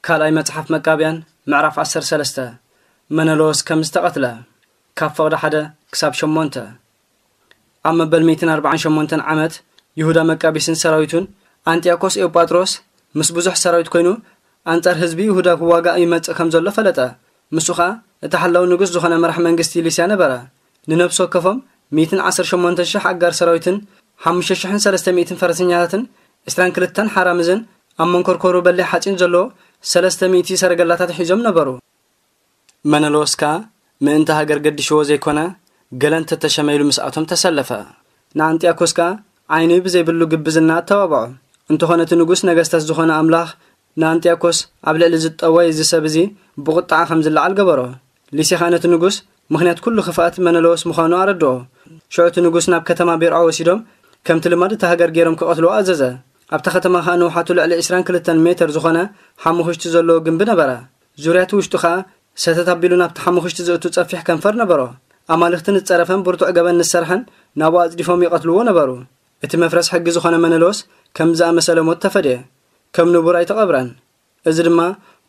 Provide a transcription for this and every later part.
ካልኣይ መጽሓፍ መቃብያን ምዕራፍ ዓሰርተ ሰለስተ። መነሎስ ከም ዝተቐትለ። ካብ ፍቕዲ ሓደ ክሳብ ሸሞንተ። ኣብ መበል ሚእትን ኣርባዓን ሸሞንተን ዓመት፣ ይሁዳ መቃቢስን ሰራዊቱን፣ ኣንጢያኮስ ኤውጳጥሮስ ምስ ብዙሕ ሰራዊት ኮይኑ ኣንጻር ህዝቢ ይሁዳ ክዋጋእ ይመጽእ ከም ዘሎ ፈለጠ። ንሱ ኸኣ እቲ ሓላው ንጉስ ዝኾነ መራሕ መንግስቲ ሊስያ ነበረ። ንነፍሲ ወከፎም ሚእትን ዓሰርተ ሸሞንተ ሽሕ ኣጋር ሰራዊትን ሓሙሽተ ሽሕን ሰለስተ ሚእትን ፈረሰኛታትን፣ ዕስራን ክልተን ሓራምዝን ኣብ መንኮርኮሩ በሊሕ ሓጺን ዘለዎ ሰለስተ ሚእቲ ሰረገላታት ሒዞም ነበሩ። መነሎስ ከኣ ምእንቲ ሃገር ገዲሽዎ ዘይኮነ፣ ገለ እንተተሸመ ኢሉ ምስኣቶም ተሰለፈ። ንኣንጢያኮስ ከኣ ዓይኒ ብዘይብሉ ግብዝና ኣተባብዖ። እንተኾነ እቲ ንጉስ ነገስታት ዝኾነ ኣምላኽ ንኣንጢያኮስ ኣብ ልዕሊ ዝጠወየ እዚ ሰብ እዚ ብቑጥዓ ከም ዝለዓል ገበሮ። ሊስያ ኸኣ ነቲ ንጉስ ምኽንያት ኩሉ ክፍኣት መነሎስ ምዃኑ ኣረድኦ። ሽዑ እቲ ንጉስ ናብ ከተማ ቤርዖ ወሲዶም ከምቲ ልማድ እታ ሃገር ገይሮም ክቐትልዎ ኣዘዘ። ኣብታ ከተማ ኸኣ ንውሓቱ ልዕሊ ዕስራን ክልተን ሜተር ዝኾነ ሓሙኽሽቲ ዘለዎ ግንቢ ነበረ። ዙርያ እቲ ውሽጡ ኸኣ ሰተት ኣቢሉ ናብቲ ሓሙኽሽቲ ዘእቱ ጸፊሕ ከንፈር ነበሮ። ኣማልኽቲ ንዝጸረፈን ብርቱዕ ገበን ንዝሰርሐን ናብኡ ኣጽዲፎም ይቐትልዎ ነበሩ። እቲ መፍረስ ሕጊ ዝኾነ መነሎስ ከም ዝኣመሰለ ሞት ተፈድየ። ከም ንቡር ኣይተቐብረን። እዚ ድማ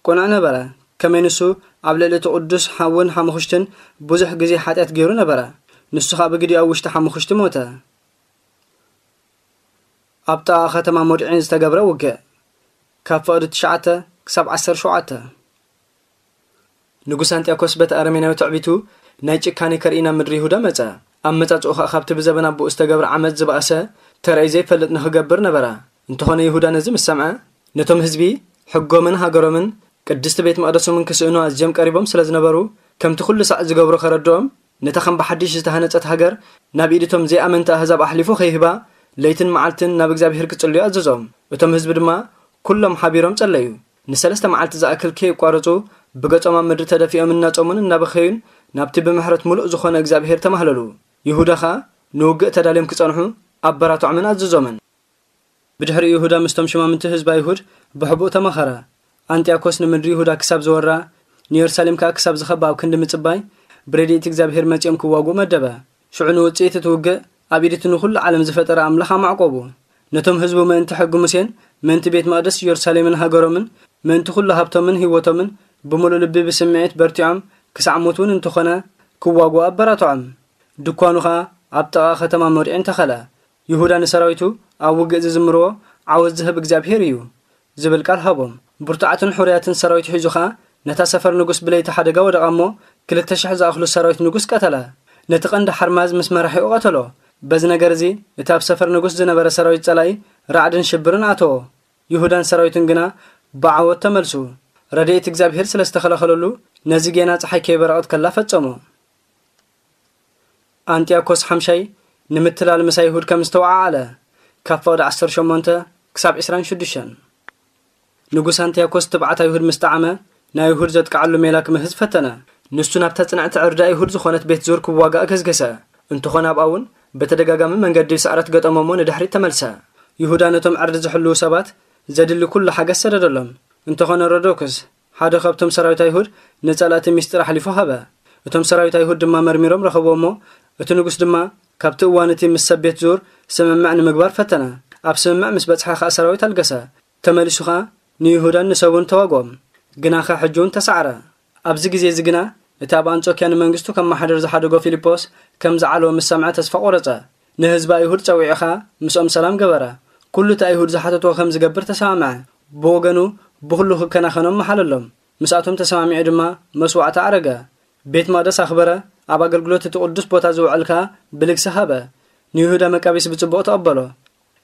ቅኑዕ ነበረ። ከመይ ንሱ ኣብ ልዕሊ እቲ ቅዱስ ሓውን ሓሙኽሽትን ብዙሕ ግዜ ሓጢኣት ገይሩ ነበረ። ንሱ ኸኣ ብግዲ ኣብ ውሽጢ ሓሙኽሽቲ ሞተ። ኣብ ጥቓ ከተማ ሞድዒን ዝተገብረ ውግእ። ካብ ፍቕዲ ትሽዓተ ክሳብ ዓሰርተ ሸውዓተ። ንጉስ ኣንጢያኮስ በቲ ኣረሜናዊ ትዕቢቱ ናይ ጭካኔ ከርኢ ናብ ምድሪ ይሁዳ መጸ። ኣመጻጽኡ ኸኣ ካብቲ ብዘበን ኣቦኡ ዝተገብረ ዓመጽ ዝበኣሰ ተራእዩ ዘይፈልጥ ንኽገብር ነበረ። እንተኾነ ይሁዳ ነዚ ምስ ሰምዐ፣ ነቶም ህዝቢ ሕጎምን ሃገሮምን ቅድስቲ ቤት መቕደሶምን ክስእኑ ኣዝዮም ቀሪቦም ስለ ዝነበሩ፣ ከምቲ ኩሉ ሳዕ ዝገብሮ ከረድኦም፣ ነታ ከም ብሓድሽ ዝተሃነጸት ሃገር ናብ ኢድ እቶም ዘይኣመንቲ ኣህዛብ ኣሕሊፉ ከይህባ ለይትን መዓልትን ናብ እግዚኣብሄር ክጽልዩ ኣዘዞም። እቶም ህዝቢ ድማ ኩሎም ሓቢሮም ጸለዩ። ንሰለስተ መዓልቲ ዝኣክል ከየቋረጹ ብገጾም ኣብ ምድሪ ተደፊኦም እናጾሙን እናበኸዩን ናብቲ ብምሕረት ምሉእ ዝኾነ እግዚኣብሄር ተማህለሉ። ይሁዳ ኸኣ ንውግእ ተዳልዮም ክጸንሑ ኣበራትዖምን ኣዘዞምን። ብድሕሪኡ ይሁዳ ምስቶም ሽማምንቲ ህዝቢ ኣይሁድ ብሕቡእ ተማኸረ። ኣንጢያኮስ ንምድሪ ይሁዳ ክሳብ ዝወራ፣ ንየሩሳሌም ከኣ ክሳብ ዝኸባ ኣብ ክንዲ ምጽባይ፣ ብረድኤት እግዚኣብሄር መጺኦም ክዋግኡ መደበ። ሽዑ ንውጽኢት እቲ ውግእ ኣብ ኢድ እቲ ንኹሉ ዓለም ዝፈጠረ ኣምላኽ ኣማዕቆቡ። ነቶም ህዝቡ ምእንቲ ሕጊ ሙሴን ምእንቲ ቤት መቕደስ ኢየሩሳሌምን ሃገሮምን ምእንቲ ኩሉ ሃብቶምን ህይወቶምን ብምሉእ ልቢ ብስምዒት በርቲዖም ክሳዕ ሞት እውን እንተኾነ ክዋግኡ ኣበራትዖም። ድኳኑ ኸኣ ኣብ ጥቓ ከተማ ሞድዒን ተኸለ። ይሁዳ ንሰራዊቱ ኣብ ውግእ ዝዝምርዎ ዓወት ዝህብ እግዚኣብሄር እዩ ዝብል ቃል ሃቦም። ብርቱዓትን ሕሩያትን ሰራዊት ሒዙ ኸኣ ነታ ሰፈር ንጉስ ብለይቲ ሓደጋ ወደቓ እሞ ክልተ ሽሕ ዝኣኽሉ ሰራዊት ንጉስ ቀተለ። ነቲ ቀንዲ ሓርማዝ ምስ መራሒኡ ቀተሎ። በዚ ነገር እዚ እቲ ኣብ ሰፈር ንጉስ ዝነበረ ሰራዊት ጸላኢ ራዕድን ሽብርን ኣተዎ። ይሁዳን ሰራዊቱን ግና ብዓወት ተመልሱ። ረድኤት እግዚኣብሄር ስለ ዝተኸለኸለሉ ነዚ ጌና ጸሓይ ከይበረቐት ከላ ፈጸሞ። ኣንጢያኮስ ሓምሻይ ንምትላል ምስ ኣይሁድ ከም ዝተወዓዓለ ካብ ፍቕዲ ዓሰርተ ሸሞንተ ክሳብ ዕስራን ሽዱሽተን። ንጉስ ኣንጢያኮስ ትብዓት ኣይሁድ ምስ ጠዓመ ንኣይሁድ ዘጥቅዓሉ ሜላ ክምህዝ ፈተነ። ንሱ ናብታ ጽንዕቲ ዕርዲ ኣይሁድ ዝኾነት ቤት ዙር ክዋጋእ ገስገሰ። እንተኾነ ኣብኣ እውን ብተደጋጋሚ መንገዲ ስዕረት ገጠሞ እሞ ንድሕሪት ተመልሰ። ይሁዳ ነቶም ዕርዲ ዝሕልዉ ሰባት ዘድሊ ኩሉ ሓገዝ ሰደደሎም። እንተኾነ ሮዶክስ ሓደ ካብቶም ሰራዊት ኣይሁድ ንጸላእቲ ምስጢር ኣሕሊፉ ሃበ። እቶም ሰራዊት ኣይሁድ ድማ መርሚሮም ረኸብዎ እሞ እቲ ንጉስ ድማ ካብቲ እዋን እቲ ምስ ሰብ ቤት ዙር ስምምዕ ንምግባር ፈተነ። ኣብ ስምምዕ ምስ በጽሐ ኸኣ ሰራዊት ኣልገሰ። ተመሊሱ ኸኣ ንይሁዳን ንሰቡን ተዋግኦም። ግናኸ ሕጂ እውን ተሳዕረ። ኣብዚ ግዜ እዚ ግና እቲ ኣብ ኣንጾክያ ንመንግስቱ ከመሓድር ዝሓደጎ ፊልጶስ ከም ዝዓለወ ምስ ሰምዐ ተስፋ ቆረጸ። ንህዝቢ ኣይሁድ ጸዊዑ ኸኣ ምስኦም ሰላም ገበረ። ኩሉ እቲ ኣይሁድ ዝሓተትዎ ከም ዝገብር ተሰማምዐ። ብወገኑ ብኹሉ ክከናኸኖም መሓለሎም። ምስኣቶም ተሰማሚዑ ድማ መስዋዕቲ ኣረገ። ቤት መቕደስ ኣኽበረ፣ ኣብ ኣገልግሎት እቲ ቅዱስ ቦታ ዝውዕል ከኣ ብልግሲ ሃበ። ንይሁዳ መቃቢስ ብጽቡቕ ተቐበሎ።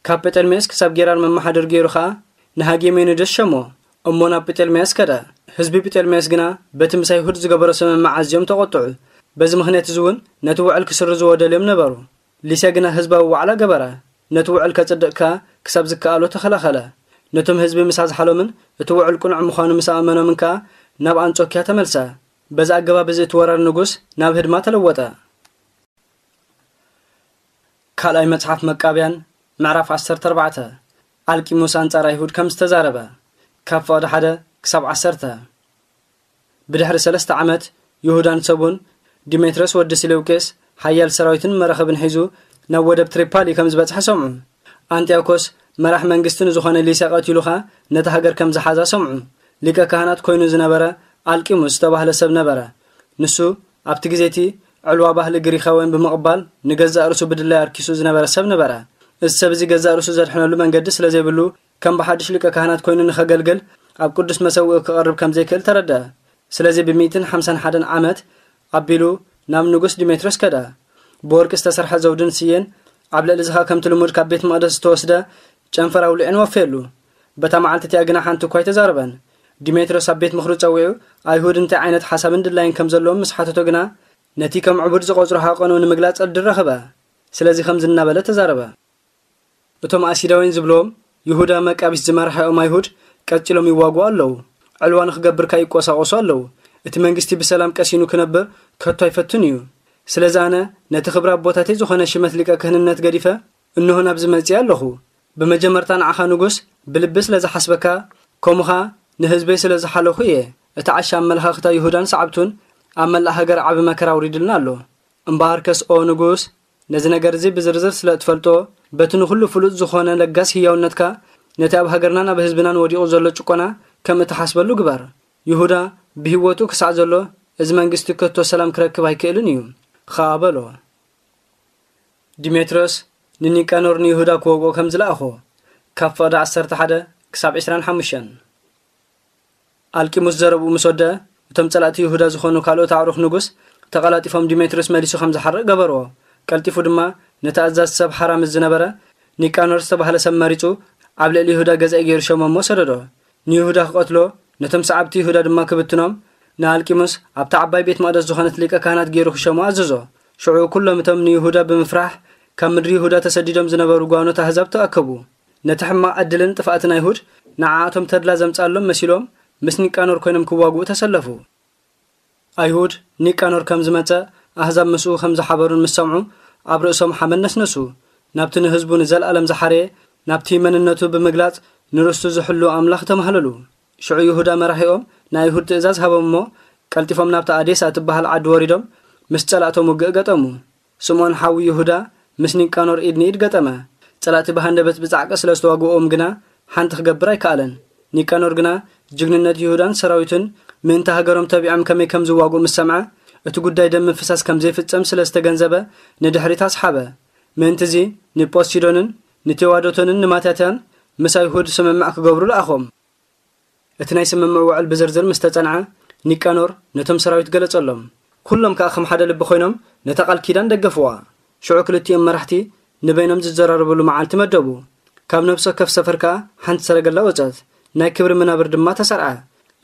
ካብ ጴጠልሜስ ክሳብ ጌራር መመሓደር ገይሩ ኸኣ ንሃጌሜኒደስ ሸሞ። እሞ ናብ ጴጠልሜስ ከደ። ህዝቢ ጴጠልሜስ ግና በቲ ምስ ኣይሁድ ዝገበሮ ስምምዕ ኣዝዮም ተቖጥዑ። በዚ ምኽንያት እዚ እውን ነቲ ውዕል ክስርዝዎ ደልዮም ነበሩ። ሊስያ ግና ህዝባዊ ዋዕላ ገበረ። ነቲ ውዕል ከጽድቕ ከኣ ክሳብ ዝከኣሎ ተኸላኸለ። ነቶም ህዝቢ ምስ ኣዝሓሎምን እቲ ውዕል ቅኑዕ ምዃኑ ምስ ኣእመኖምን ከኣ ናብ ኣንጾክያ ተመልሰ። በዚ ኣገባብ እዚ እቲ ወራር ንጉስ ናብ ህድማ ተለወጠ። ካልኣይ መጽሓፍ መቃብያን ምዕራፍ ዓሰርተ ኣርባዕተ። ኣልቂሙስ ኣንጻር ኣይሁድ ከም ዝተዛረበ። ካብ ፍቕዲ ሓደ ክሳብ ዓሰርተ። ብድሕሪ ሰለስተ ዓመት ይሁዳን ሰቡን ዲሜትሮስ ወዲ ስሌውቄስ ሓያል ሰራዊትን መራኽብን ሒዙ ናብ ወደብ ትሪፓሊ ከም ዝበጽሐ ሰምዑ። ኣንጢያኮስ መራሕ መንግስቲ ንዝኾነ ሊስያ ቀቲሉ ኸኣ ነታ ሃገር ከም ዝሓዛ ሰምዑ። ሊቀ ካህናት ኮይኑ ዝነበረ ኣልቂሙስ ዝተባህለ ሰብ ነበረ። ንሱ ኣብቲ ግዜ እቲ ዕልዋ ባህሊ ግሪኻውያን ብምቕባል ንገዛእ ርእሱ ብድላይ ኣርኪሱ ዝነበረ ሰብ ነበረ። እዚ ሰብ እዚ ገዛእ ርእሱ ዘድሕነሉ መንገዲ ስለ ዘይብሉ ከም ብሓድሽ ሊቀ ካህናት ኮይኑ ንኸገልግል ኣብ ቅዱስ መሰውኢ ክቐርብ ከም ዘይክእል ተረድአ። ስለዚ ብ ሚእትን ሓምሳን ሓደን ዓመት ኣቢሉ ናብ ንጉስ ዲሜትሮስ ከደ። ብወርቂ ዝተሰርሐ ዘውድን ስየን ኣብ ልዕሊ ዝኻ ከምቲ ልሙድ ካብ ቤት መቕደስ ዝተወስደ ጨንፈር ኣውሊዑን ወፈየሉ። በታ መዓልቲ እቲኣ ግና ሓንቲ እኳ ኣይተዛረበን። ዲሜትሮስ ኣብ ቤት ምኽሩ ጸዊዑ ኣይሁድ እንታይ ዓይነት ሓሳብን ድላይን ከም ዘለዎም ምስ ሓተቶ ግና ነቲ ከም ዕቡድ ዝቖጽሮ ሃቐኑ ንምግላጽ ዕድል ረኸበ። ስለዚ ከምዚ እናበለ ተዛረበ። እቶም ኣሲዳውያን ዝብልዎም ይሁዳ መቃቢስ ዝመርሐኦም ኣይሁድ ቀጺሎም ይዋግኡ ኣለዉ። ዕልዋ ንኽገብር ከኣ ይቆሳቆሱ ኣለዉ። እቲ መንግስቲ ብሰላም ቀሲኑ ክነብር ከቶ ኣይፈቱን እዩ። ስለዚ ኣነ ነቲ ክብሪ ኣቦታተይ ዝኾነ ሽመት ሊቀ ክህንነት ገዲፈ እንሆ ናብዚ መጺእ ኣለኹ። ብመጀመርታ ንዓኻ ንጉስ ብልቢ ስለ ዝሓስበካ፣ ከምኡ ኸኣ ንህዝበይ ስለ ዝሓለኹ እየ። እቲ ዓሻ ኣመለኻኽታ ይሁዳን ሰዓብቱን ኣብ መላእ ሃገር ዓቢ መከራ ኣውሪድልና ኣሎ። እምበኣርከስ ኦ ንጉስ፣ ነዚ ነገር እዚ ብዝርዝር ስለ እትፈልጦ፣ በቲ ንኹሉ ፍሉጥ ዝኾነ ለጋስ ህያውነትካ፣ ነቲ ኣብ ሃገርናን ኣብ ህዝብናን ወዲቑ ዘሎ ጭቆና ከም እትሓስበሉ ግበር። ይሁዳ ብህይወቱ ክሳዕ ዘሎ፣ እዚ መንግስቲ ከቶ ሰላም ክረክብ ኣይክእልን እዩ ኸኣ በሎ። ዲሜትሮስ ንኒቃኖር ንይሁዳ ክወግኦ ከም ዝለኣኾ፣ ካብ ፍቕዲ ዓሰርተ ሓደ ክሳብ ዕስራን ሓሙሽተን። ኣልቂሙስ ዘረብኡ ምስ ወደአ፣ እቶም ጸላእቲ ይሁዳ ዝኾኑ ካልኦት ኣዕሩኽ ንጉስ ተቐላጢፎም ዲሜትሮስ መሊሱ ከም ዝሓርቕ ገበርዎ። ቀልጢፉ ድማ ነቲ ኣዛዚ ሰብ ሓራ ምስ ዝነበረ ኒቃኖር ዝተባህለ ሰብ መሪጹ ኣብ ልዕሊ ይሁዳ ገዛኢ ገይሩ ሸሞ እሞ ሰደዶ። ንይሁዳ ክቐትሎ፣ ነቶም ሰዓብቲ ይሁዳ ድማ ክብትኖም፣ ንኣልቂሙስ ኣብታ ዓባይ ቤት መቕደስ ዝኾነት ሊቀ ካህናት ገይሩ ክሸሞ ኣዘዞ። ሽዑ ኩሎም እቶም ንይሁዳ ብምፍራሕ ካብ ምድሪ ይሁዳ ተሰዲዶም ዝነበሩ ጓኖት ኣህዛብ ተኣከቡ። ነቲ ሕማቕ ዕድልን ጥፍኣትን ኣይሁድ ንዓኣቶም ተድላ ዘምጽኣሎም መሲሎም ምስ ኒቃኖር ኮይኖም ክዋግኡ ተሰለፉ። ኣይሁድ ኒቃኖር ከም ዝመጸ ኣህዛብ ምስኡ ከም ዝሓበሩን ምስ ሰምዑ ኣብ ርእሶም ሓመድ ነስነሱ። ናብቲ ንህዝቡ ንዘለኣለም ዝሓረየ ናብቲ መንነቱ ብምግላጽ ንርስቱ ዝሕሉ ኣምላኽ ተማህለሉ። ሽዑ ይሁዳ መራሒኦም ንኣይሁድ ትእዛዝ ሃቦም እሞ ቀልጢፎም ናብታ ኣዴሳ እትበሃል ዓዲ ወሪዶም ምስ ጸላእቶም ውግእ ገጠሙ። ስምዖን ሓዊ ይሁዳ ምስ ኒቃኖር ኢድ ንኢድ ገጠመ። ጸላእቲ ብሃንደበት ብጻዕቂ ስለ ዝተዋግኦም ግና ሓንቲ ክገብር ኣይከኣለን። ኒቃኖር ግና ጅግንነት ይሁዳን ሰራዊቱን ምእንቲ ሃገሮም ተቢዖም ከመይ ከም ዝዋግኡ ምስ ሰምዐ እቲ ጉዳይ ደም ምፍሳስ ከም ዘይፍጸም ስለ ዝተገንዘበ ንድሕሪት ኣስሓበ። ምእንቲ እዚ ንጶሲዶንን ንቴዋዶቶንን ንማታትያን ምስ ኣይሁድ ስምምዕ ክገብሩ ለኣኾም። እቲ ናይ ስምምዕ ውዕል ብዝርዝር ምስ ተጸንዐ ኒቃኖር ነቶም ሰራዊት ገለጸሎም። ኩሎም ከኣ ከም ሓደ ልቢ ኮይኖም ነታ ቃል ኪዳን ደገፍዋ። ሽዑ ክልቲኦም መራሕቲ ንበይኖም ዝዘራረብሉ መዓልቲ መደቡ። ካብ ነፍሲ ወከፍ ሰፈር ከኣ ሓንቲ ሰረገላ ወጸት። ናይ ክብሪ መናብር ድማ ተሰርዐ።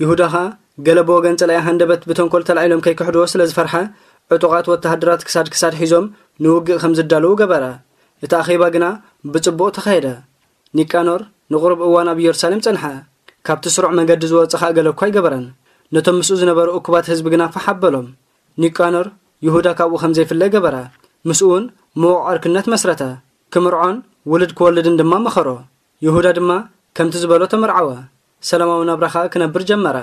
ይሁዳ ኸኣ ገለ ብወገን ጸላኢ ሃንደበት ብተንኮል ተላዒሎም ከይክሕድዎ ስለ ዝፈርሐ ዕጡቓት ወተሃደራት ክሳድ ክሳድ ሒዞም ንውግእ ከም ዝዳለዉ ገበረ። እቲ ኣኼባ ግና ብጽቡቕ ተኻየደ። ኒቃኖር ንቑሩብ እዋን ኣብ ኢየሩሳሌም ጸንሐ። ካብቲ ስሩዕ መገዲ ዝወጸ ኸኣ ገለ እኳ ኣይገበረን። ነቶም ምስኡ ዝነበሩ እኩባት ህዝቢ ግና ፋሕ ኣበሎም። ኒቃኖር ይሁዳ ካብኡ ከም ዘይፍለ ገበረ። ምስኡ እውን ምዉቕ ዕርክነት መስረተ። ክምርዖን ውሉድ ክወልድን ድማ መኸሮ። ይሁዳ ድማ ከምቲ ዝበሎ ተመርዓወ። ሰላማዊ ናብራ ኸኣ ክነብር ጀመረ።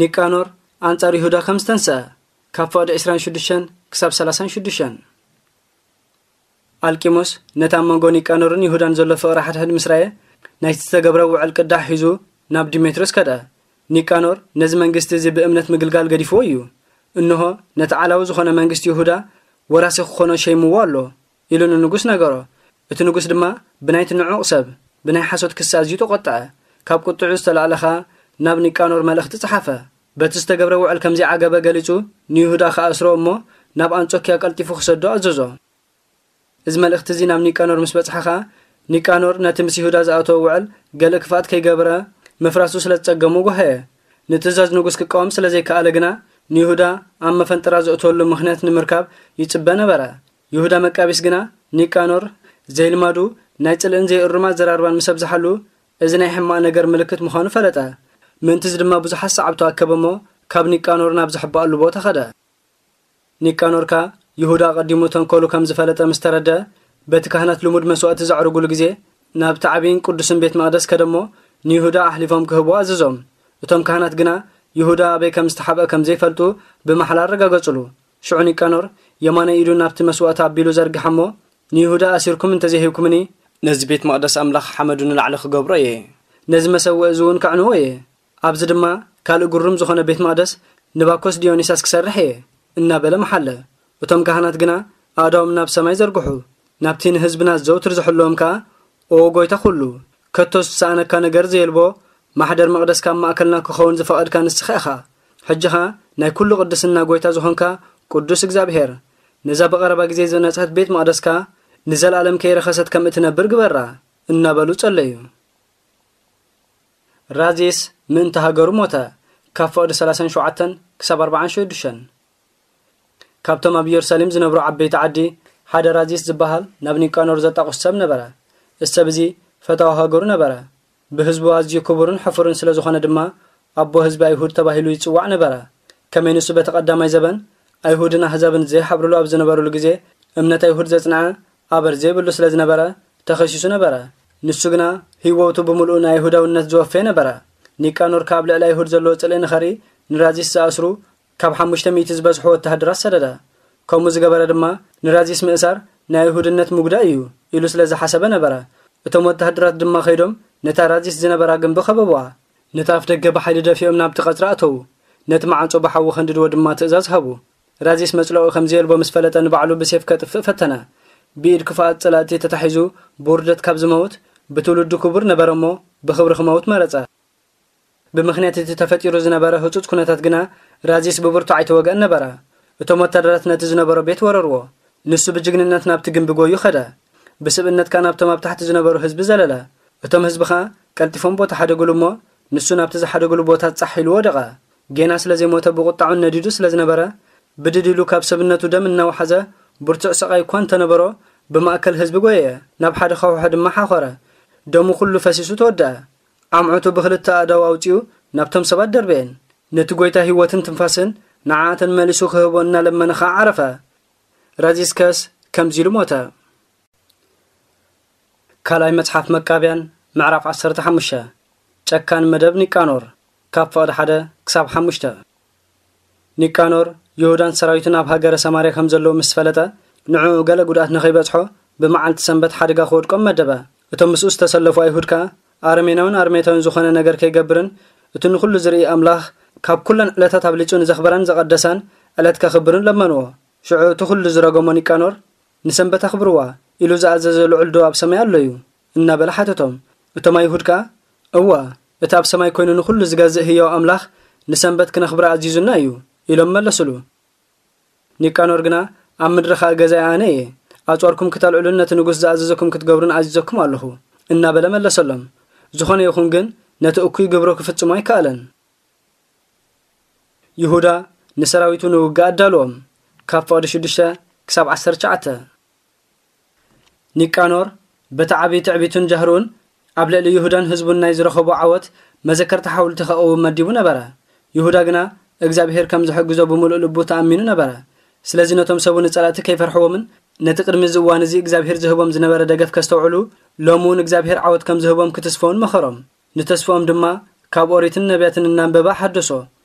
ኒቃኖር ኣንጻር ይሁዳ ከም ዝተንስአ፣ ካብ ፍቕዲ ዕስራን ሽዱሽተን ክሳብ ሰላሳን ሽዱሽተን። ኣልቂሙስ ነቲ ኣብ መንጎ ኒቃኖርን ይሁዳን ዘሎ ፍቕሪ ሓድሕድ ምስ ረኣየ፣ ናይቲ ዝተገብረ ውዕል ቅዳሕ ሒዙ ናብ ዲሜትሮስ ከደ። ኒቃኖር ነዚ መንግስቲ እዚ ብእምነት ምግልጋል ገዲፍዎ እዩ። እንሆ፣ ነቲ ዓላዊ ዝኾነ መንግስቲ ይሁዳ ወራሲ ክኾኖ ሸይምዎ ኣሎ፣ ኢሉ ንንጉስ ነገሮ። እቲ ንጉስ ድማ ብናይቲ ንዑቕ ሰብ ብናይ ሓሶት ክሲ ኣዝዩ ተቖጥዐ። ካብ ቁጥዑ ዝተላዕለ ኸኣ ናብ ኒቃኖር መልእኽቲ ጸሓፈ። በቲ ዝተገብረ ውዕል ከም ዘይዓገበ ገሊጹ፣ ንይሁዳ ክኣስሮ እሞ ናብ ኣንጾኪያ ቀልጢፉ ክሰዶ ኣዘዞ። እዚ መልእኽቲ እዚ ናብ ኒቃኖር ምስ በጽሐ ኸኣ፣ ኒቃኖር ነቲ ምስ ይሁዳ ዝኣተወ ውዕል ገለ ክፍኣት ከይገበረ ምፍራሱ ስለ ዝጸገሙ ጓሃየ። ንትእዛዝ ንጉስ ክቃወም ስለ ዘይከኣለ ግና፣ ንይሁዳ ኣብ መፈንጥራ ዘእትወሉ ምኽንያት ንምርካብ ይጽበ ነበረ። ይሁዳ መቃቢስ ግና፣ ኒቃኖር ዘይልማዱ ናይ ጽልእን ዘይእሩም ኣዘራርባን ምስ ኣብዝሓሉ፣ እዚ ናይ ሕማቕ ነገር ምልክት ምዃኑ ፈለጠ። ምእንቲ እዚ ድማ ብዙሓት ሰዓብቱ ኣከበ እሞ፣ ካብ ኒቃኖር ናብ ዝሕበኣሉ ቦታ ኸደ። ኒቃኖር ከኣ ይሁዳ ኣቐዲሙ ተንኮሉ ከም ዝፈለጠ ምስ ተረድአ፣ በቲ ካህናት ልሙድ መስዋእቲ ዘዕርጉሉ ግዜ ናብቲ ዓብይን ቅዱስን ቤት መቕደስ ከደ እሞ ንይሁዳ ኣሕሊፎም ክህብዎ ኣዘዞም። እቶም ካህናት ግና ይሁዳ ኣበይ ከም ዝተሓብአ ከም ዘይፈልጡ ብማሕላ ኣረጋገጹሉ። ሽዑ ኒቃኖር የማናይ ኢዱ ናብቲ መስዋእቲ ኣቢሉ ዘርግሓ እሞ ንይሁዳ ኣሲርኩም እንተዘይሂብኩምኒ ነዚ ቤት መቕደስ ኣምላኽ ሓመዱ ንላዕሊ ክገብሮ እየ። ነዚ መሰውኢ እዚ እውን ከዕንዎ እየ። ኣብዚ ድማ ካልእ ግሩም ዝኾነ ቤት መቕደስ ንባኮስ ዲዮኒሳስ ክሰርሕ እየ እናበለ መሓለ። እቶም ካህናት ግና ኣእዳዎም ናብ ሰማይ ዘርግሑ፣ ናብቲ ንህዝብና ዘውትር ዝሕልዎም ከኣ፣ ኦ ጎይታ ኩሉ፣ ከቶ ዝሰኣነካ ነገር ዘየልቦ ማሕደር መቕደስካ ኣብ ማእከልና ክኸውን ዝፈቐድካ ንስኻ ኢኻ። ሕጂ ኸኣ ናይ ኩሉ ቅድስና ጎይታ ዝኾንካ ቅዱስ እግዚኣብሔር፣ ነዛ ብቐረባ ግዜ ዝነጽሐት ቤት መቕደስካ ንዘለኣለም ከይረኸሰት ከም እትነብር ግበራ እናበሉ ጸለዩ። ራዚስ ምእንቲ ሃገሩ ሞተ። ካብ ፍቕዲ ሰላሳን ሸውዓተን ክሳብ ኣርባዓን ሽዱሽተን። ካብቶም ኣብ ኢየሩሳሌም ዝነብሩ ዓበይቲ ዓዲ ሓደ ራዚስ ዝበሃል ናብ ኒቃኖር ዘጣቕሱ ሰብ ነበረ። እዚ ሰብ እዚ ፈታዊ ሃገሩ ነበረ። ብህዝቡ ኣዝዩ ክቡርን ሕፉርን ስለ ዝኾነ ድማ ኣቦ ህዝቢ ኣይሁድ ተባሂሉ ይጽዋዕ ነበረ። ከመይ ንሱ በቲ ቀዳማይ ዘበን ኣይሁድን ኣህዛብን ዘይሓብርሉ ኣብ ዝነበሩሉ ግዜ እምነት ኣይሁድ ዘጽንዐ ኣበር ዘይብሉ ስለ ዝነበረ ተኸሲሱ ነበረ። ንሱ ግና ህይወቱ ብምሉኡ ንኣይሁዳውነት ዝወፈየ ነበረ። ኒቃኖር ከኣ ኣብ ልዕሊ ኣይሁድ ዘለዎ ጽልኢ ንኸርኢ ንራዚስ ዝኣስሩ ካብ ሓሙሽተ ሚእቲ ዝበዝሑ ወተሃደራት ሰደደ። ከምኡ ዝገበረ ድማ ንራዚስ ምእሳር ናይ ኣይሁድነት ምጉዳእ እዩ ኢሉ ስለ ዝሓሰበ ነበረ። እቶም ወተሃደራት ድማ ከይዶም ነታ ራዚስ ዝነበራ ግንቢ ከበብዋ። ነቲ ኣፍ ደገ ብሓይሊ ደፊኦም ናብቲ ቀጽሪ ኣተዉ። ነቲ መዓጾ ብሓዊ ከንድድዎ ድማ ትእዛዝ ሃቡ። ራዚስ መጽለኡ ከም ዘየልቦ ምስ ፈለጠ ንባዕሉ ብሴፍ ከጥፍእ ፈተነ። ብኢድ ክፉኣት ጸላእቲ ተታሒዙ ብውርደት ካብ ዝመውት ብትውልዱ ክቡር ነበረ እሞ ብኽብሪ ክመውት መረጸ። ብምኽንያት እቲ ተፈጢሩ ዝነበረ ህጹጽ ኩነታት ግና ራዚስ ብብርቱዕ ኣይተወግአን ነበረ። እቶም ወታደራት ነቲ ዝነበሮ ቤት ወረርዎ። ንሱ ብጅግንነት ናብቲ ግንቢ ጎዩ ኸደ። ብስብእነት ከኣ ናብቶም ኣብ ታሕቲ ዝነበሩ ህዝቢ ዘለለ። እቶም ህዝቢ ኸኣ ቀልጢፎም ቦታ ሓደጉሉ እሞ ንሱ ናብቲ ዝሓደጉሉ ቦታ ጻሕ ኢሉ ወደቐ። ጌና ስለ ዘይሞተ ብቑጣዑን ነዲዱ ስለ ዝነበረ ብድድ ኢሉ ካብ ሰብነቱ ደም እናወሓዘ ብርቱዕ ስቓይ እኳ እንተነበሮ ብማእከል ህዝቢ ጎየየ። ናብ ሓደ ኻውሖ ድማ ሓኾረ። ደሙ ኩሉ ፈሲሱ ተወደአ። ኣምዑቱ ብኽልተ ኣእዳው ኣውጺኡ ናብቶም ሰባት ደርበየን። ነቲ ጎይታ ህይወትን ትንፋስን ንዓኣተን መሊሱ ክህቦ እናለመነ ኸዓ ዓረፈ። ራዚስከስ ከምዚ ኢሉ ሞተ። ካልኣይ መጽሓፍ መቃብያን ምዕራፍ ዓሰርተ ሓሙሽተ። ጨካን መደብ ኒቃኖር ካብ ፍቕዲ ሓደ ክሳብ ሓሙሽተ። ኒቃኖር ይሁዳን ሰራዊቱን ኣብ ሃገረ ሰማርያ ከም ዘለዉ ምስ ፈለጠ ንዕኡ ገለ ጉድኣት ንኸይበጽሖ ብመዓልቲ ሰንበት ሓደጋ ክወድቆም መደበ። እቶም ምስኡ ዝተሰለፉ ኣይሁድ ከኣ ኣረሜናውን ኣርሜታውን ዝኾነ ነገር ከይገብርን እቲ ንኹሉ ዝርኢ ኣምላኽ ካብ ኩለን ዕለታት ኣብሊጹ ንዘኽበራን ዘቐደሳን ዕለት ከኽብርን ለመንዎ። ሽዑ እቲ ኩሉ ዝረገሞ ኒቃኖር ንሰንበት ኣኽብርዋ ኢሉ ዝኣዘዘ ልዑል ዶ ኣብ ሰማይ ኣሎ እዩ እናበለ ሓተቶም። እቶም ኣይሁድ ከኣ እወ እቲ ኣብ ሰማይ ኮይኑ ንኹሉ ዝገዝእ ህያው ኣምላኽ ንሰንበት ክነኽብራ ኣዚዙና እዩ ኢሎም መለሱሉ። ኒቃኖር ግና ኣብ ምድሪ ኸኣ ገዛኢ ኣነ እየ፣ ኣጽዋርኩም ክተልዕሉን ነቲ ንጉስ ዝኣዘዘኩም ክትገብሩን ኣዚዘኩም ኣለኹ እናበለ መለሰሎም። ዝኾነ ይኹን ግን ነቲ እኩይ ግብሩ ክፍጽሞ ኣይከኣለን። ይሁዳ ንሰራዊቱ ንውግእ ኣዳልዎም። ካብ ፍቕዲ ሽዱሽተ ክሳብ ዓሰርተ ትሽዓተ። ኒቃኖር በቲ ዓቢ ትዕቢቱን ጃህርኡን ኣብ ልዕሊ ይሁዳን ህዝቡን ናይ ዝረኸቦ ዓወት መዘከርታ ሓውልቲ ከቐውም መዲቡ ነበረ። ይሁዳ ግና እግዚኣብሔር ከም ዝሕግዞ ብምሉእ ልቡ ተኣሚኑ ነበረ። ስለዚ ነቶም ሰቡ ንጸላእቲ ከይፈርሕዎምን ነቲ ቅድሚ እዚ እዋን እዚ እግዚኣብሔር ዝህቦም ዝነበረ ደገፍ ከስተውዕሉ ሎሚ እውን እግዚኣብሔር ዓወት ከም ዝህቦም ክትስፈውን መኸሮም። ንተስፍኦም ድማ ካብ ኦሪትን ነቢያትን እናንበበ ሓደሶ።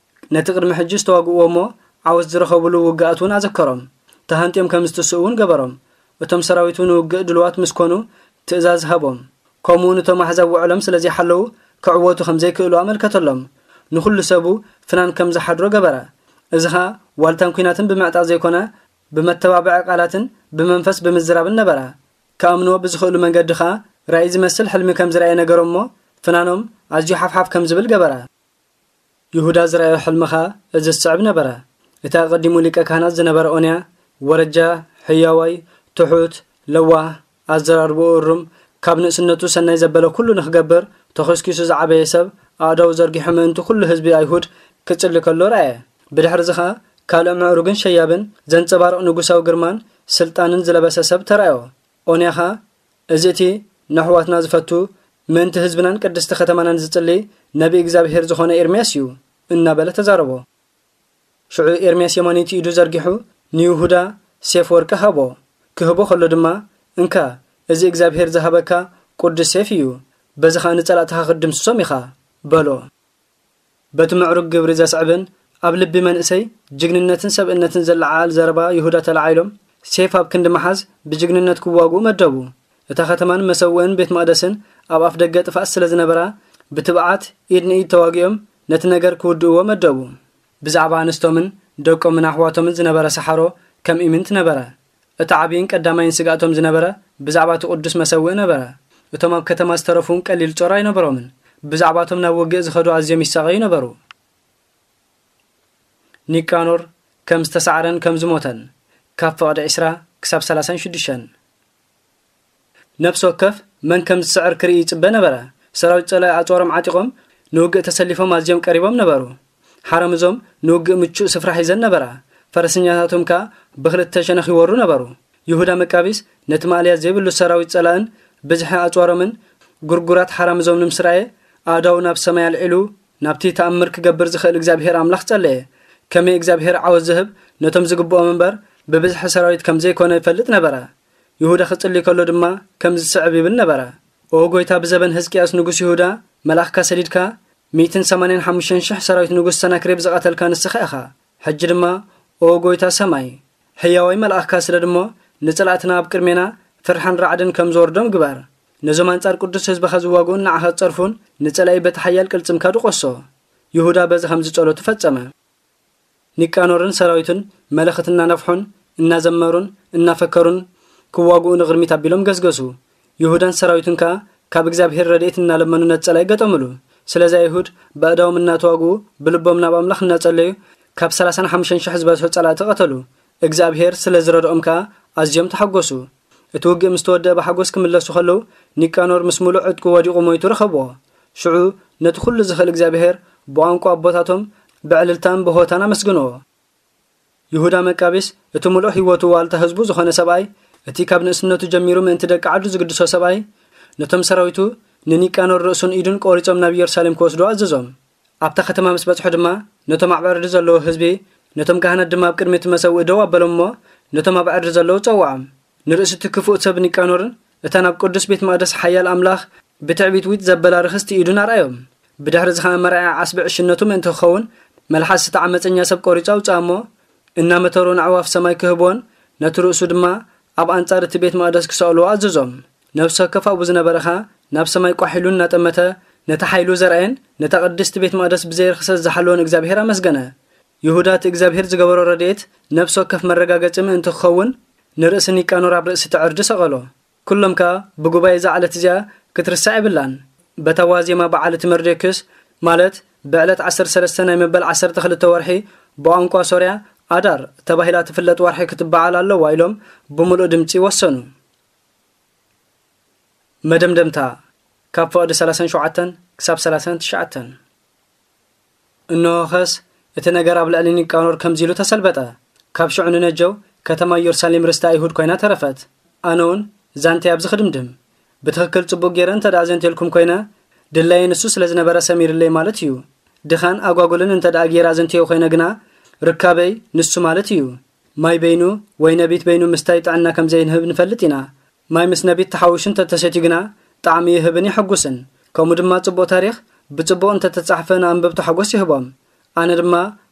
ነቲ ቅድሚ ሕጂ ዝተዋግእዎ እሞ ዓወት ዝረኸብሉ ውግኣት እውን ኣዘከሮም። ተሃንጥዮም ከም ዝትስኡ እውን ገበሮም። እቶም ሰራዊቱ ንውግእ ድሉዋት ምስ ኮኑ ትእዛዝ ሃቦም። ከምኡ እውን እቶም ኣሕዛብ ውዕሎም ስለ ዘይሓለዉ ክዕወቱ ከም ዘይክእሉ ኣመልከተሎም። ንኹሉ ሰቡ ፍናን ከም ዝሓድሮ ገበረ። እዚ ኸኣ ዋልታን ኲናትን ብምዕጣቕ ዘይኮነ ብመተባብዒ ቃላትን ብመንፈስ ብምዝራብን ነበረ። ክኣምንዎ ብዝኽእሉ መንገዲ ኸኣ ራእይ ዝመስል ሕልሚ ከም ዝረኣየ ነገሮም እሞ ፍናኖም ኣዝዩ ሓፍሓፍ ከም ዝብል ገበረ። ይሁዳ ዝረኣዮ ሕልሚ ኸኣ እዚ ዝስዕብ ነበረ። እቲ ኣቐዲሙ ሊቀ ካህናት ዝነበረ ኦንያ ወረጃ፣ ሕያዋይ፣ ትሑት፣ ለዋህ፣ ኣዘራርባኡ እሩም፣ ካብ ንእስነቱ ሰናይ ዘበለ ኩሉ ንኽገብር ተኾስኪሱ ዝዓበየ ሰብ ኣእዳው ዘርጊሑ ምእንቲ ኩሉ ህዝቢ ኣይሁድ ክጽሊ ከሎ ረኣየ። ብድሕሪ እዚ ኸኣ ካልእ ምዕሩግን ሸያብን ዘንጸባርቕ ንጉሳዊ ግርማን ስልጣንን ዝለበሰ ሰብ ተራእዮ። ኦንያ ኸኣ እዚ እቲ ነሕዋትና ዝፈቱ ምእንቲ ህዝብናን ቅድስቲ ከተማናን ዝጽሊ ነቢ እግዚኣብሔር ዝኾነ ኤርምያስ እዩ እናበለ ተዛረቦ። ሽዑ ኤርምያስ የማነይቲ ኢዱ ዘርጊሑ ንይሁዳ ሴፍ ወርቂ ሃቦ። ክህቦ ከሎ ድማ እንካ እዚ እግዚኣብሔር ዝሃበካ ቅዱስ ሴፍ እዩ፣ በዚ ኸኣ ንጸላእትኻ ክትድምስሶም ኢኻ በሎ። በቲ ምዕሩግ ግብሪ ዘስዕብን ኣብ ልቢ መንእሰይ ጅግንነትን ሰብእነትን ዘለዓዕል ዘረባ ይሁዳ ተለዓዒሎም ሴፍ ኣብ ክንዲ ምሓዝ ብጅግንነት ክዋግኡ መደቡ። እታ ከተማን መሰውእን ቤት መቕደስን ኣብ ኣፍ ደገ ጥፍኣት ስለ ዝነበራ ብትብዓት ኢድ ንኢድ ተዋጊኦም ነቲ ነገር ክውድእዎ መደቡ። ብዛዕባ ኣንስቶምን ደቆምን ኣሕዋቶምን ዝነበረ ሰሓሮ ከም ኢምንት ነበረ። እቲ ዓብይን ቀዳማይን ስግኣቶም ዝነበረ ብዛዕባ እቲ ቅዱስ መሰውእ ነበረ። እቶም ኣብ ከተማ ዝተረፉን ቀሊል ጾር ኣይነበሮምን። ብዛዕባቶም ናብ ውግእ ዝኸዱ ኣዝዮም ይሳቐዩ ነበሩ። ኒቃኖር ከም ዝተሳዕረን ከም ዝሞተን ካብ ፍቕዲ ዕስራ ክሳብ ሰላሳን ሽዱሽተን። ነፍሲ ወከፍ መን ከም ዝስዕር ክርኢ ይጽበ ነበረ። ሰራዊት ጸላኢ ኣጽዋሮም ዓጢቖም ንውግእ ተሰሊፎም ኣዝዮም ቀሪቦም ነበሩ። ሓረምዞም ንውግእ ምቹእ ስፍራ ሒዘን ነበራ። ፈረሰኛታቶም ከኣ ብኽልተ ሸነኽ ይወሩ ነበሩ። ይሁዳ መቃቢስ ነቲ ማእለያ ዘይብሉ ሰራዊት ጸላእን ብዝሒ ኣጽዋሮምን ጉርጉራት ሓራምዞም ንምስራየ ኣእዳዉ ናብ ሰማይ ኣልዒሉ ናብቲ ተኣምር ክገብር ዝኽእል እግዚኣብሔር ኣምላኽ ጸለየ። ከመይ እግዚኣብሔር ዓወት ዝህብ ነቶም ዝግብኦም እምበር ብብዝሒ ሰራዊት ከም ዘይኮነ ይፈልጥ ነበረ። ይሁዳ ክጽሊ ከሎ ድማ ከምዚ ዝስዕብ ይብል ነበረ። ኦ ጎይታ፣ ብዘበን ህዝቅያስ ንጉስ ይሁዳ መልኣኽካ ሰዲድካ ሚእትን ሰማንያን ሓሙሽተን ሽሕ ሰራዊት ንጉስ ሰናክሬብ ዝቐተልካ ንስኻ ኢኻ። ሕጂ ድማ ኦ ጎይታ ሰማይ፣ ሕያዋይ መልኣኽካ ስደድ እሞ ንጸላእትና ኣብ ቅድሜና ፍርሕን ራዕድን ከም ዝወርዶም ግበር። ነዞም ኣንጻር ቅዱስ ህዝብኻ ዝዋግኡን ንዓኻ ዝጸርፉን ንጸላኢ በቲ ሓያል ቅልጽምካ ድቆሶ። ይሁዳ በዚ ከምዚ ጸሎቱ ፈጸመ። ኒቃኖርን ሰራዊቱን መለኸት እናነፍሑን እናዘመሩን እናፈከሩን ክዋግኡ ንቕድሚት ኣቢሎም ገስገሱ። ይሁዳን ሰራዊቱን ከኣ ካብ እግዚኣብሔር ረድኤት እናለመኑ ነቲ ጸላኢ ገጠምሉ። ስለዚ ኣይሁድ በእዳዎም እናተዋግኡ ብልቦም ናብ ኣምላኽ እናጸለዩ ካብ ሰላሳን ሓሙሽተን ሽሕ ዝበዝሑ ጸላእቲ ቀተሉ። እግዚኣብሔር ስለ ዝረድኦም ከኣ ኣዝዮም ተሓጎሱ። እቲ ውግእ ምስ ተወደአ ብሓጎስ ክምለሱ ከለዉ ኒቃኖር ምስ ምሉእ ዕጥቁ ወዲቑ ሞይቱ ረኸብዎ። ሽዑ ነቲ ኩሉ ዝኽእል እግዚኣብሔር ብቋንቋ ኣቦታቶም ብዕልልታን ብሆታን ኣመስግንዎ። ይሁዳ መቃቢስ እቲ ምሉእ ህይወቱ ዋልታ ህዝቡ ዝኾነ ሰብኣይ፣ እቲ ካብ ንእስነቱ ጀሚሩ ምእንቲ ደቂ ዓዱ ዝግድሶ ሰብኣይ፣ ነቶም ሰራዊቱ ንኒቃኖር ርእሱን ኢዱን ቆሪጾም ናብ ኢየሩሳሌም ክወስዱ ኣዘዞም። ኣብታ ከተማ ምስ በጽሑ ድማ ነቶም ኣብ ዕርዲ ዘለዉ ህዝቢ፣ ነቶም ካህናት ድማ ኣብ ቅድሚ እቲ መሰውኢ ደው ኣበሎም እሞ ነቶም ኣብ ዕርዲ ዘለዉ ጸውዖም። ንርእሲ እቲ ክፉእ ሰብ ኒቃኖርን እታ ናብ ቅዱስ ቤት መቕደስ ሓያል ኣምላኽ ብትዕቢት ዊጥ ዘበላ ርኽስቲ ኢዱን ኣርኣዮም። ብድሕሪ እዚ ኸኣ መርኣያ ዓስቢ ዕሽነቱ ምእንቲ ክኸውን መልሓስ እቲ ዓመፀኛ ሰብ ቆሪጹ ኣውፅኣ እሞ እናመተሩ ንኣዕዋፍ ሰማይ ክህብዎን ነቲ ርእሱ ድማ ኣብ ኣንጻር እቲ ቤት መቕደስ ክሰቕልዎ ኣዘዞም። ነፍሲ ወከፍ ኣብኡ ዝነበረ ኸኣ ናብ ሰማይ ቋሕ ኢሉ እናጠመተ ነቲ ሓይሉ ዘርኣየን ነታ ቅድስቲ ቤት መቕደስ ብዘይ ርኽሰት ዝሓለወን እግዚኣብሔር ኣመስገነ። ይሁዳ እቲ እግዚኣብሔር ዝገበሮ ረድኤት ነፍሲ ወከፍ መረጋገጺ ምእንቲ ክኸውን ንርእሲ ኒቃኖር ኣብ ርእሲ እቲ ዕርዲ ሰቐሎ። ኩሎም ከኣ ብጉባኤ እዛ ዕለት እዚኣ ክትርሳዕ የብላን። በታ ዋዜማ በዓል እቲ መርዶክዮስ ማለት ብዕለት ዓሰርተ ሰለስተ ናይ መበል ዓሰርተ ክልተ ወርሒ ብቋንቋ ሶርያ ኣዳር ተባሂላ ትፍለጥ ወርሒ ክትበዓል ኣለዋ ኢሎም ብምሉእ ድምጺ ወሰኑ። መደምደምታ ካብ ፍቕዲ ሰላሳን ሸውዓተን ክሳብ ሰላሳን ትሽዓተን። እንሆኸስ እቲ ነገር ኣብ ልዕሊ ኒቃኖር ከምዚ ኢሉ ተሰልበጠ። ካብ ሽዑ ንነጀው ከተማ ኢየሩሳሌም ርስቲ ኣይሁድ ኮይና ተረፈት። ኣነ እውን ዛንተይ ኣብዚ ክድምድም። ብትኽክል ጽቡቕ ገይረ እንተ ደኣ ዘንቴልኩም ኮይነ ድላየ ንሱ ስለ ዝነበረ ሰሚርለይ ማለት እዩ። ድኻን ኣጓጉልን እንተ ደኣ ገይረ ኣዘንትዮ ኮይነ ግና ርካበይ ንሱ ማለት እዩ። ማይ በይኑ ወይ ነቢት በይኑ ምስታይ ጥዕና ከም ዘይንህብ ንፈልጥ ኢና። ማይ ምስ ነቢት ተሓዊሱ እንተተሰትዩ ግና ጣዕሚ ይህብን የሐጉስን። ከምኡ ድማ ጽቡቕ ታሪኽ ብጽቡቕ እንተተጻሕፈ ንኣንበብቲ ሓጎስ ይህቦም። ኣነ ድማ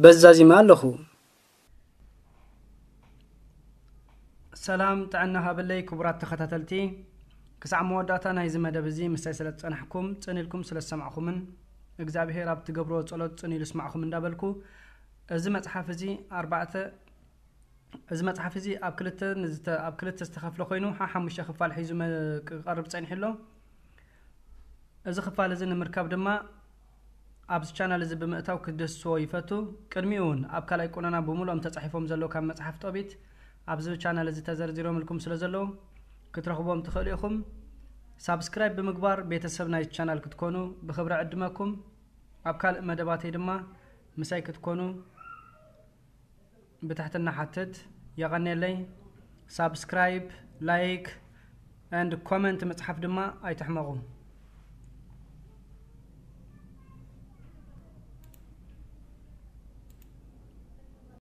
በዚ ዛዚመ ኣለኹ። ሰላም ጥዕና ሃበለይ ክቡራት ተኸታተልቲ፣ ክሳዕ መወዳእታ ናይዚ መደብ እዚ ምሳይ ስለ ዝጸናሕኩም፣ ጽን ኢልኩም ስለ ዝሰማዕኩምን እግዚኣብሄር ኣብ ትገብርዎ ጸሎት ጽን ኢሉ ይስማዕኩም እንዳበልኩ፣ እዚ መጽሓፍ እዚ ኣርባዕተ፣ እዚ መጽሓፍ እዚ ኣብ ክልተ ንዝተ-፣ ኣብ ክልተ ዝተኸፍለ ኮይኑ፣ ሓ-፣ ሓሙሽተ ክፋል ሒዙ መ-፣ ክቐርብ ጸኒሑ ኣሎ። እዚ ክፋል እዚ ንምርካብ ድማ ኣብዚ ቻናል እዚ ብምእታው ክትድህስስዎ ይፈቱ። ቅድሚኡ እውን ኣብ ካልኣይ ቁነና ብምሉኦም ተጻሒፎም ዘለዉ ካብ መጽሓፍ ጦቢት ኣብዚ ቻናል እዚ ተዘርዚሮምልኩም ስለ ዘለዉ ክትረኽብዎም ትኽእሉ ኢኹም። ሳብስክራይብ ብምግባር ቤተሰብ ናይቲ ቻናል ክትኮኑ ብኽብሪ ዕድመኩም። ኣብ ካልእ መደባተይ ድማ ምሳይ ክትኮኑ ብትሕትና ሓትት። የቐንየለይ። ሳብስክራይብ፣ ላይክ፣ and ኮመንት ምጽሓፍ ድማ ኣይትሕመቑ።